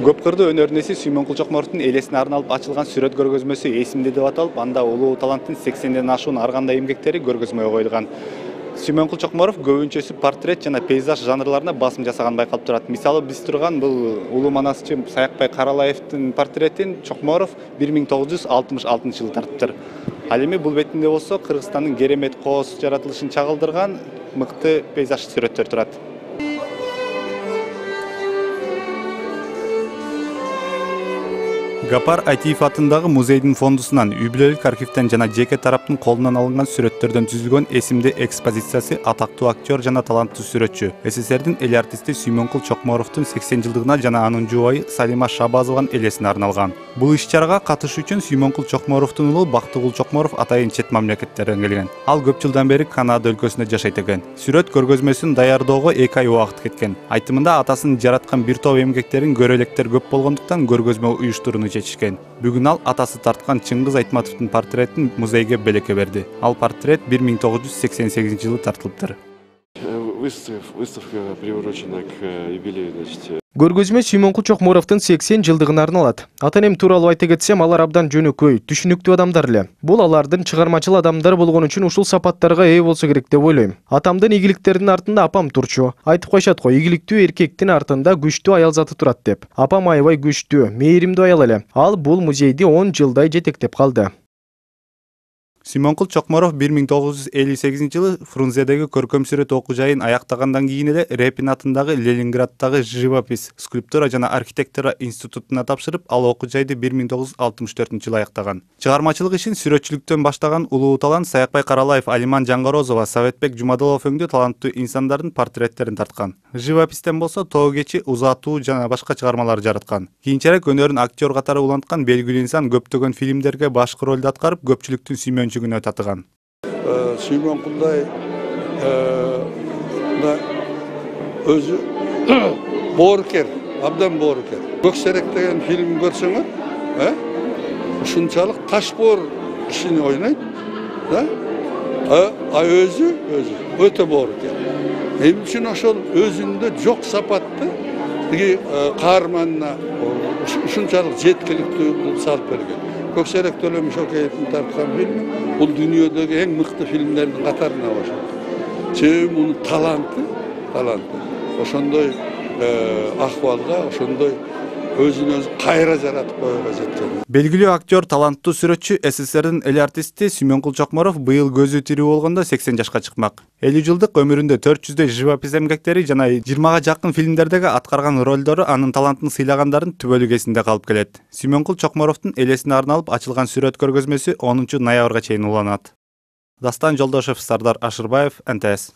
Көп кырдуу өнөр ээси Сүймөнкул Чокморовдун элесине арналып ачылган сүрөт көргөзмөсү эсимде деп аталып, анда улуу таланттын 80ден ашуун ар кандай эмгектери көргөзмөгө коюлган. Сүймөнкул Чокморов көбүнчөсү портрет жана пейзаж жанрларына басым жасаган байкалып турат. Мисалы биз турган бул улуу манасчы Саякбай Каралаевдин портретин Чокморов 1966 тартыптыр. Ал эми бул бетинде болсо Кыргызстандын керемет кооз жаратылышын чагылдырган мыкты пейзаж сүрөттөр турат. Гапар Айтиев атындагы музейдин фондусунан үй-бүлөлүк архивден жана жеке тараптын колунан алынган сүрөттөрдөн түзүлгөн эсимде экспозициясы атактуу актер жана таланттуу сүрөтчү СССРдин эл артисти Сүймөнкул Чокморовдун 80 жылдыгына жана анын жубайы Салима Шабазованын элесине арналган. Бул иш-чарага катышуу үчүн Сүймөнкул Чокморовдун уулу Бактыгул Чокморов атайын чет мамлекеттерден келген. Ал көп жылдан бери Канада өлкөсүндө жашайт экен. Сүрөт көргөзмөсүн даярдоого 2 ай убакыт кеткен. Айтымында атасын жараткан бир топ эмгектерин көрө электер көп болгондуктан көргөзмө уюштурууну чечишкен. Бүгүн ал атасы тарткан Чыңгыз Айтматовдун портретин музейге белекке берди. Ал портрет 1988 жылы тартылыптыр. Выставка приурочена к юбилею, Көргөзмө Сүймөнкул Чокморовдун 80 жылдыгына арналат. Ата-энем тууралуу айта кетсем, алар абдан жөнөкөй, түшүнүктүү адамдар эле. Бул алардын чыгармачыл адамдар болгон үчүн ушул сапаттарга ээ болсо керек деп ойлойм. Атамдын ийгиликтеринин артында апам турчу. Айтып коюшат го, ийгиликтүү эркектин артында күчтүү аял заты турат деп. Апам аябай күчтүү, мээримдүү аял эле. Ал бул музейди 10 жылдай жетектеп калды. Сүймөнкул Чокморов 1958 жылы Фрунзедеги көркөм сүрөт окуу жайын аяктагандан кийин эле Репин атындагы Ленинграддагы живопись, скульптура жана архитектура институтуна тапшырып, ал окуу жайды 1964 жылы аяктаган. Чыгармачылык ишин сүрөтчүлүктөн баштаган улуу талант Саякбай Каралаев, Алиман Жаңгорозова, Советбек Жумадылов өңдүү таланттуу инсандардын портреттерин тарткан. Живопистен болсо Тоо кечи, Узатуу жана башка чыгармалар жараткан. Кийинчерээк өнөрүн актер катары уланткан белгилүү инсан көптөгөн фильмдерге башкы ролду аткарып, көпчүлүктүн сүймөнчүгүнө татыган. Сүймөнкулдай өзү боорукер, абдан боорукер. Көксерек деген фильм көрсөңөр, ушунчалык ташбоор ишин ойнойт, өзү өтө боорукер. Эмне үчүн ошол өзүндө жок сапатты тиги каарманына ушунчалык жеткиликтүү салып берген. Көксерек Төлөм Шокеевдин тарткан фильми бул дүйнөдөгү эң мыкты фильмдердин катарына кошулат. Себеби мунун таланты. Ошондой акыбалга, ошондой өзүн өзү кайра жаратып коюуга жеткен. Белгилүү актер, таланттуу сүрөтчү СССРдин эл артисти Сүймөнкул Чокморов быйыл көзү тирүү болгондо 80 жашка чыкмак. 50 жылдык өмүрүндө 400дөй живопись эмгектери жана 20га жакын фильмдердеги аткарган ролдору анын талантын сыйлагандардын түбөлүк эсинде калып келет. Сүймөнкул Чокморовдун элесине арналып ачылган сүрөт көргөзмөсү 10 ноябрга чейин уланат. Дастан Жолдошев, Сардар Ашырбаев, НТС.